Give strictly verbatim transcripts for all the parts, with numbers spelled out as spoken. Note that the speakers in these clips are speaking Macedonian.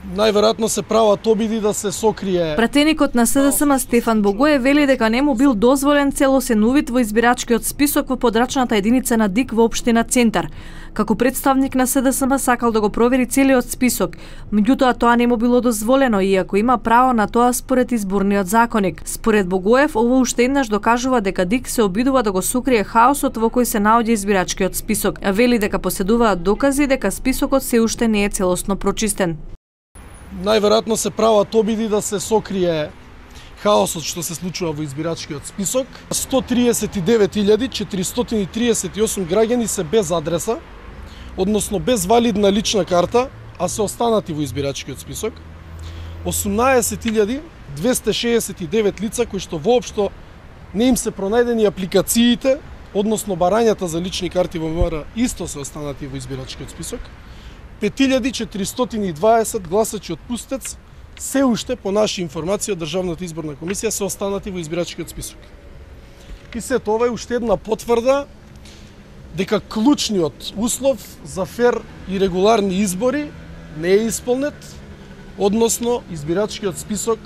Најверојатно се прават обиди да се сокрие. Пратеникот на СДСМ Стефан Богоев вели дека не му бил дозволен целосен увид во избирачкиот список во подрачната единица на ДИК во општина Центар. Како представник на СДСМ сакал да го провери целиот список, меѓутоа тоа не му било дозволено, иако има право на тоа според изборниот законник. Според Богоев, ово уште еднаш докажува дека ДИК се обидува да го сокрие хаосот во кој се наоѓа избирачкиот список, а вели дека поседуваат докази дека списокот се уште не е целосно прочистен. Најверојатно се прават обиди да се сокрие хаосот што се случува во избирачкиот список. сто триесет и девет илјади четиристотини и триесет и осум граѓани се без адреса, односно без валидна лична карта, а се останати во избирачкиот список. осумнаесет илјади двесте шеесет и девет лица кои што воопшто не им се пронајдени апликациите, односно барањата за лични карти во МВР исто се останати во избирачкиот список. пет илјади четиристотини и дваесет гласачи од Пустец се уште по наши информации од Државната изборна комисија се останати во избирачкиот список. И се тоа е уште една потврда дека клучниот услов за фер и регуларни избори не е исполнет, односно избирачкиот список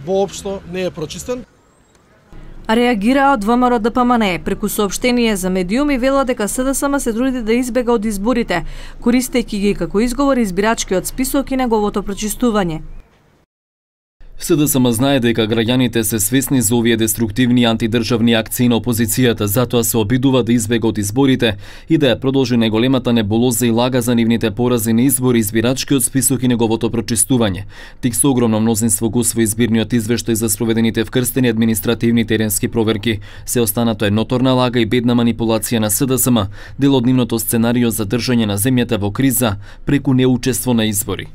воопшто не е прочистен. Реагираа од ВМРО Д П М Н преку соопштение за медиум и вела дека СДСМ се труди да избега од изборите, користејќи ги како изговор избирачкиот список и неговото прочистување. СДСМ знае дека граѓаните се свесни за овие деструктивни антидржавни акции на опозицијата, затоа се обидува да избега од изборите и да ја продолжи најголемата небулоза и лага за нивните порази на избори, избирачкиот список и неговото прочистување. Тик со огромно мнозинство го усвои избирниот извештај за спроведените вкрстени административни теренски проверки. Се останато е ноторна лага и бедна манипулација на СДСМ, дел од нивното сценарио за држање на земјата во криза преку неучество на избори.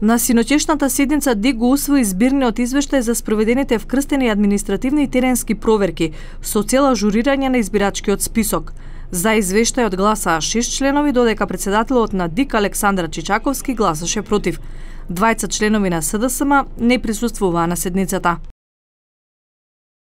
На синоќешната седница ДИК го усвои избирниот извештај за спроведените вкрстени административни и теренски проверки со цел ажурирање на избирачкиот список. За извештајот гласаа шест членови, додека председателот на ДИК Александра Чичаковски гласаше против. Двајца членови на СДСМ не присуствуваа на седницата.